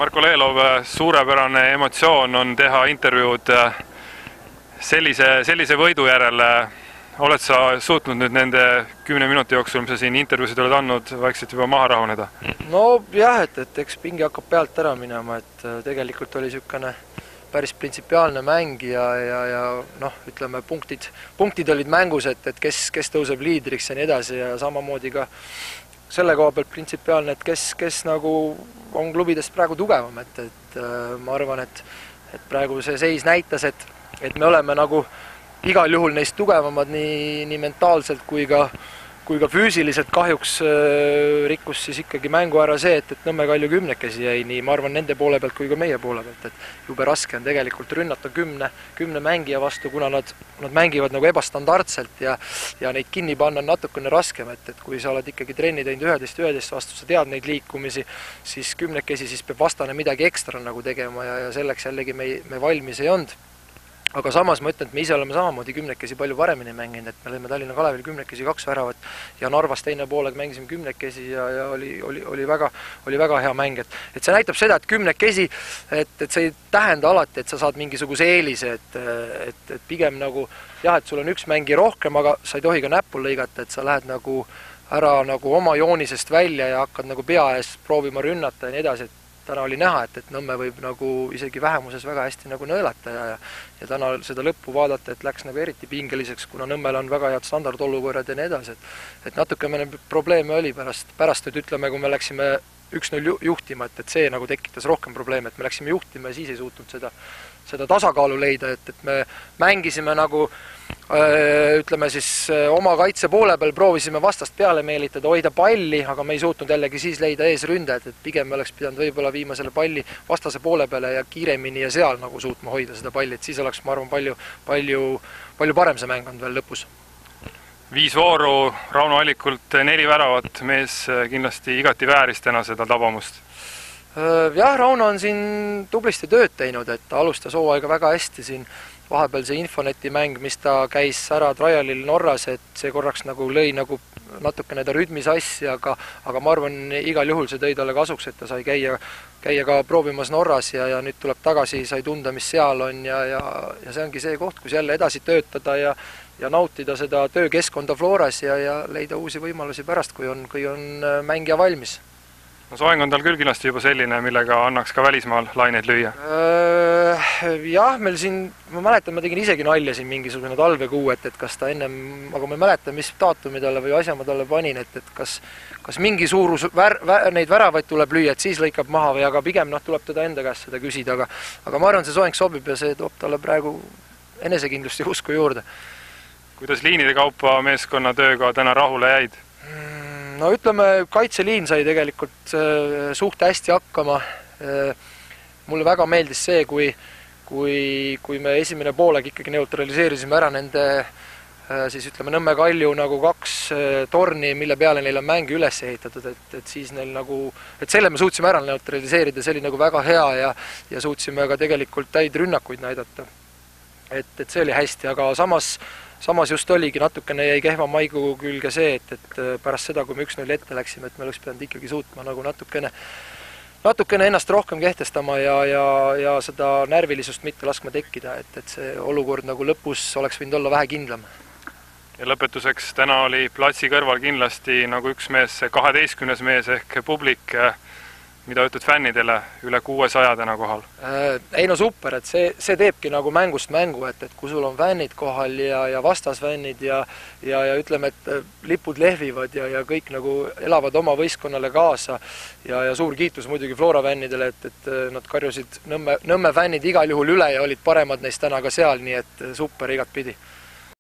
Marko Leelov, suurepärane emotsioon on teha intervjuud sellise võidu järele. Oled sa suutnud nüüd nende 10 minuti jooksul, mis sa siin intervjuusid oled andnud, vaikselt juba maha rahuneda? No jah, et eks pingi hakkab pealt ära minema, et tegelikult oli niisugune päris printsipiaalne mäng ja noh, ütleme, punktid olid mängus, et kes tõuseb liidriks ja nii edasi ja samamoodi ka selle koha pealt printsipiaalne, et kes nagu on klubidest praegu tugevam, et ma arvan, et praegu see seis näitas, et me oleme nagu igal juhul neist tugevamad nii mentaalselt kui ka füüsiliselt. Kahjuks rikkus siis ikkagi mängu ära see, et Nõmme Kalju 10 jäi nii, ma arvan, nende poole pealt kui ka meie poole pealt, et jube raske on tegelikult rünnata 10 mängija vastu, kuna nad mängivad nagu ebastandardselt ja neid kinni panna on natukene raskem, et kui sa oled ikkagi trenni teinud 11 vastu, sa tead neid liikumisi, siis 10 siis peab vastane midagi ekstra nagu tegema ja selleks jällegi me valmis ei olnud. Aga samas ma ütlen, et me ise oleme samamoodi 10 palju paremini mänginud, et me lõime Tallinna Kalevil 10 2 väravat ja Narvas teine poolega mängisime 10 ja oli väga hea mäng. Et see näitab seda, et 10 et see ei tähenda alati, et sa saad mingisuguse eelise, et pigem nagu jah, et sul on üks mängi rohkem, aga sa ei tohi ka näppu lõigata, et sa lähed nagu ära nagu oma joonisest välja ja hakkad nagu pea ees proovima rünnata ja nii edasi, et täna oli näha, et Nõmme võib nagu isegi vähemuses väga hästi nagu nõelata ja täna seda lõppu vaadata, et läks nagu eriti pingeliseks, kuna Nõmmel on väga head standardolukorrad ja nii edasi, et natuke meil probleeme oli pärast, et ütleme, kui me läksime 1-0 juhtima, et see nagu tekitas rohkem probleeme, et me läksime juhtima ja siis ei suutnud seda tasakaalu leida, et me mängisime nagu ütleme siis oma kaitse poole peal, proovisime vastast peale meelitada, hoida palli, aga me ei suutnud jällegi siis leida eesründajat, et pigem me oleks pidanud võib-olla viima selle palli vastase poole peale ja kiiremini ja seal nagu suutma hoida seda palli, et siis oleks, ma arvan, palju parem see mäng on veel lõpus. 5 vooru, Rauno Allikult 4 väravat, mees kindlasti igati vääris täna seda tabamust. Jah, Rauno on siin tublisti tööd teinud, et ta alustas hooaega väga hästi siin vahepeal see Infoneti mäng, mis ta käis ära trialil Norras, et see korraks nagu lõi nagu natukene ta rütmi sassi, aga ma arvan, igal juhul see tõi talle kasuks, et ta sai käia ka proovimas Norras ja nüüd tuleb tagasi, sai tunda, mis seal on ja see ongi see koht, kus jälle edasi töötada ja nautida seda töökeskkonda Floras ja leida uusi võimalusi pärast, kui on mängija valmis. No soeng on tal küll kindlasti juba selline, millega annaks ka välismaal laineid lüüa? Jah, meil siin, ma mäletan, ma tegin isegi nalja siin mingisugune talvekuu, et kas ta ennem, aga ma ei mäleta, mis daatumi talle või asja ma talle panin, et kas mingi suurus neid väravaid tuleb lüüa, et siis lõikab maha või aga pigem tuleb teda enda käest seda küsida, aga ma arvan, see soeng sobib ja see toob talle praegu enesekindlust ja usku juurde. Kuidas liinide kaupa meeskonna tööga täna rahule jäid? No ütleme, kaitseliin sai tegelikult suht hästi hakkama. Mulle väga meeldis see, kui me esimene poolega ikkagi neutraliseerisime ära nende siis ütleme Nõmme Kalju nagu 2 torni, mille peale neil on mäng üles ehitatud, et siis neil nagu, et selle me suutsime ära neutraliseerida, see oli nagu väga hea ja suutsime ka tegelikult täid rünnakuid näidata. Et see oli hästi, aga samas just oligi natukene jäi kehva maigu külge see, et pärast seda, kui me 1-0 ette läksime, et me oleks pidanud ikkagi suutma nagu natukene ennast rohkem kehtestama ja seda närvilisust mitte laskma tekkida, et see olukord nagu lõpus oleks võinud olla vähe kindlam. Ja lõpetuseks täna oli platsi kõrval kindlasti nagu üks mees, see 12. mees ehk publik, mida ütled fännidele, üle 600 täna kohal? Ei no super, et see teebki nagu mängust mängu, et kui sul on fännid kohal ja vastasfännid ja ütleme, et lipud lehvivad ja kõik nagu elavad oma võistkonnale kaasa ja suur kiitus muidugi Flora fännidele, et nad karjusid Nõmme fännid igal juhul üle ja olid paremad neist täna ka seal, nii et super igat pidi.